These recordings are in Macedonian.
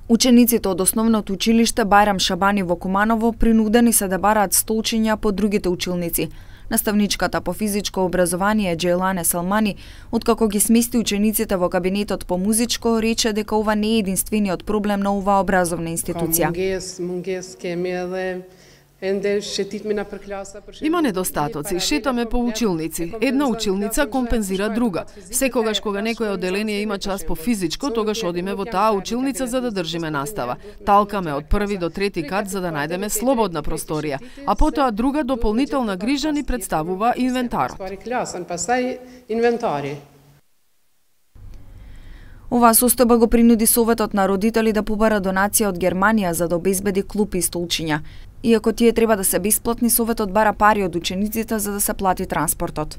Учениците од основното училиште Бајрам Шабани во Куманово принудени се да бараат столчиња по другите училници. Наставничката по физичко образование Джейлане Салмани, откако ги смести учениците во кабинетот по музичко, рече дека ова не е единствениот проблем на оваа образовна институција. Има недостатоци, шетаме по училници. Една училница компензира друга. Секогаш кога некоја одделение има час по физичко, тогаш одиме во таа училница за да држиме настава. Талкаме од први до трети кат за да најдеме слободна просторија, а потоа друга дополнителна грижа ни представува инвентарот. Оваа состојба го принуди Советот на родители да побара донација од Германија за да обезбеди клупи и столчиња. Иако тие треба да се бесплатни, Советот бара пари од учениците за да се плати транспортот.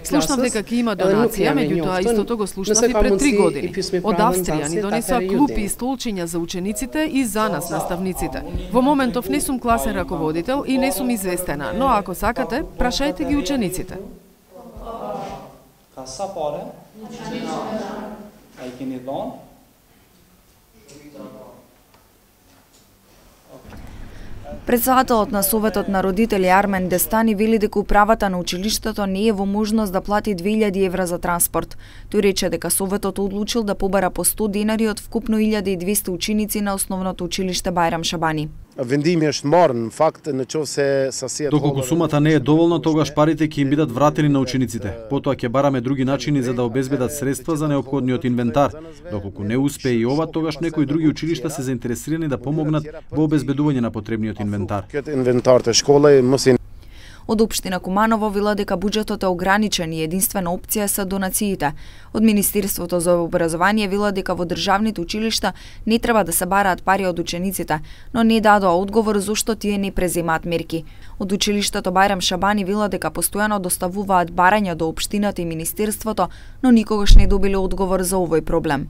Слушнав дека ќе има донација, меѓутоа истото го слушнав и пред 3 години. Од Австрија ни донесоа клупи и столчиња за учениците и за нас, наставниците. Во моментов не сум класен раководител и не сум известена, но ако сакате, прашајте ги учениците. Председателот на Советот на родители Армен Дестани вели дека управата на училиштето не е во можност да плати 2000 евра за транспорт. Тој рече дека Советот одлучил да побара по 100 денари од вкупно 1200 ученици на основното училиште Бајрам Шабани. Доколку сумата не е доволна, тогаш парите ќе им бидат вратени на учениците. Потоа ќе бараме други начини за да обезбедат средства за неопходниот инвентар. Доколку не успее и ова, тогаш некои други училишта се заинтересирани да помогнат во обезбедување на потребниот инвентар. Од Општина Куманово вела дека буџетот е ограничен и единствена опција се донациите. Од Министерството за образование вела дека во државните училишта не треба да се бараат пари од учениците, но не дадоа одговор зошто тие не преземаат мерки. Од училиштето Бајрам Шабани вела дека постојано доставуваат барања до општината и Министерството, но никогаш не добиле одговор за овој проблем.